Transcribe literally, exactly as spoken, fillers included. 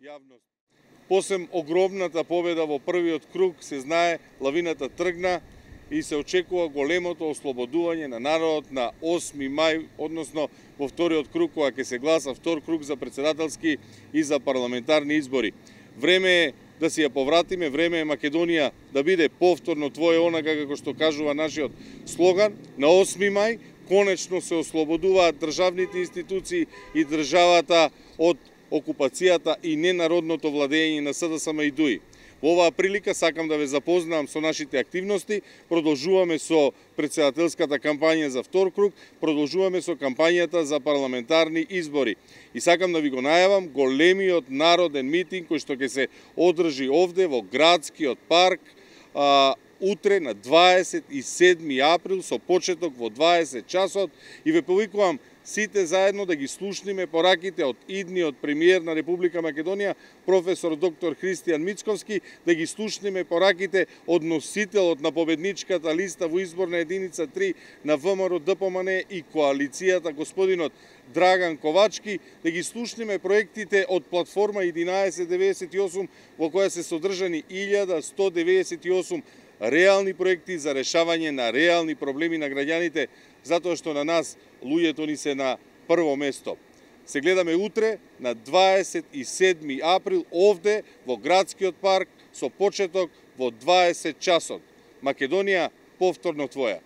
јавност. Посем огромната победа во првиот круг, се знае, лавината тргна и се очекува големото ослободување на народот на осми мај, односно во вториот круг, кога ќе се гласа втор круг за председателски и за парламентарни избори. Време е да си ја повратиме, време е Македонија да биде повторно твое онака како што кажува нашиот слоган. На осми мај конечно се ослободуваат државните институции и државата од окупацијата и ненародното владење на СДСМ и ДУИ. Во оваа прилика сакам да ве запознам со нашите активности. Продолжуваме со председателската кампања за втор круг, продолжуваме со кампањата за парламентарни избори. И сакам да ви го најавам големиот народен митинг кој што ќе се одржи овде во градскиот парк а, утре на дваесет и седми април со почеток во дваесет часот и ве повикувам сите заедно да ги слушниме пораките од идниот премиер на Република Македонија, професор доктор Христијан Мицковски, да ги слушниме пораките од носителот на победничката листа во изборна единица три на ВМРО ДПМН и коалицијата, господинот Драган Ковачки, да ги слушниме проектите од платформа единаесет деветдесет и осум во која се содржани илјада сто деветдесет и осум реални проекти за решавање на реални проблеми на граѓаните, затоа што на нас луѓето ни се на прво место. Се гледаме утре на дваесет и седми април овде во градскиот парк со почеток во дваесет часот. Македонија повторно твоја.